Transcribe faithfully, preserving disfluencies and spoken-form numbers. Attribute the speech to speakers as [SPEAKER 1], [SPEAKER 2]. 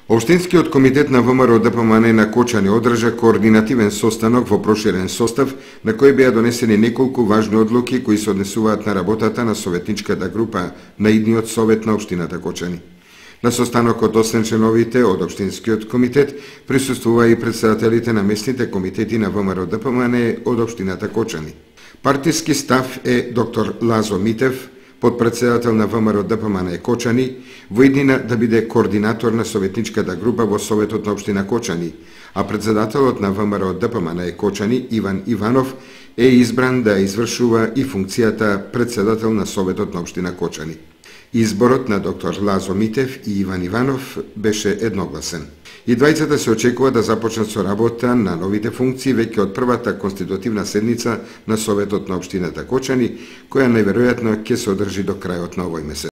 [SPEAKER 1] Општинскиот комитет на ВМРО Д П М Н на Кочани одржа координативен состанок во проширен состав, на кој беа донесени неколку важни одлуки кои се однесуваат на работата на советничката група на идниот совет на општината Кочани. На состанокот освен членовите од Општинскиот комитет присуствува и претседателите на местните комитети на ВМРО Д П М Н од општината Кочани. Партиски став е доктор Лазо Митев, подпредседател на ВМРО Д П М Н Кочани, во иднина да биде координатор на советничката група во Советот на општина Кочани, а председателот на ВМРО Д П М Н Кочани, Иван Иванов, е избран да извршува и функцијата председател на Советот на општина Кочани. Изборот на доктор Лазо Митев и Иван Иванов беше едногласен. И двајцата се очекува да започнат со работа на новите функции веќе од првата конститутивна седница на Советот на општината Кочани, која најверојатно ќе се одржи до крајот на овој месец.